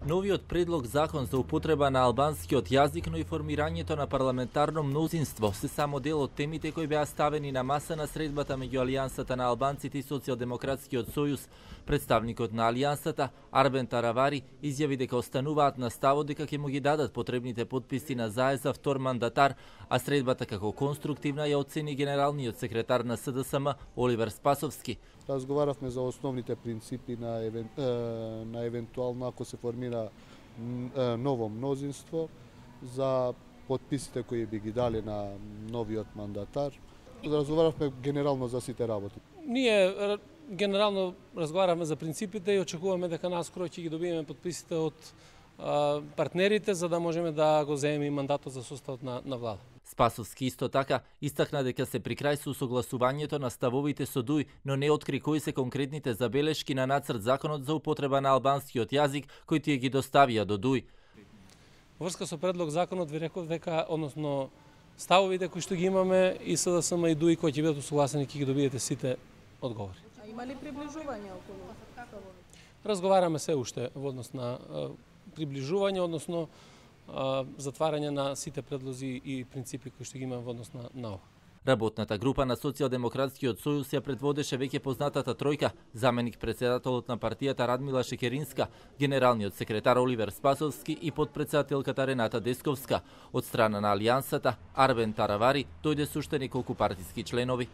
Новиот предлог закон за употреба на албанскиот јазик, но и формирањето на парламентарно мнозинство се само дел од темите кои беа ставени на маса на средбата меѓу Алијансата на албанците и Социјалдемократскиот сојуз. Представникот на Алијансата, Арбен Таравари, изјави дека остануваат на ставот дека ќе му ги дадат потребните потписи на ЗАЕ за втор мандатар, а средбата како конструктивна ја оцени генералниот секретар на СДСМ Оливер Спасовски. Разговаравме за основните принципи на евентуално ако се формира ново мнозинство, за потписите кои би ги дали на новиот мандатар. Разговаравме генерално за сите работи. Ние генерално разговаравме за принципите и очекуваме дека наскоро ќе ги добиеме потписите од партнерите за да можеме да го земеме мандатот за составот на влада. Спасовски исто така истакна дека се при крај со согласувањето на ставовите со ДУИ, но не откри кои се конкретните забелешки на нацрт законот за употреба на албанскиот јазик кои тие ги доставија до ДУИ. Во врска со предлог законот ви реков дека односно ставовите кои што ги имаме и СДСМ и ДУИ кои ќе бидат усогласени ќе ги добиете сите одговори. А има ли приближување околу ставовите? Разговараме се уште во однос на приближување, односно затварање на сите предлози и принципи кои што ги имаме во однос на ова. Работната група на Социјалдемократскиот сојуз ја предводеше веќе познатата тројка, заменик председателот на партијата Радмила Шекеринска, генералниот секретар Оливер Спасовски и подпредседателката Рената Десковска. Од страна на Алијансата, Арбен Таравари дојде со уште неколку партиски членови.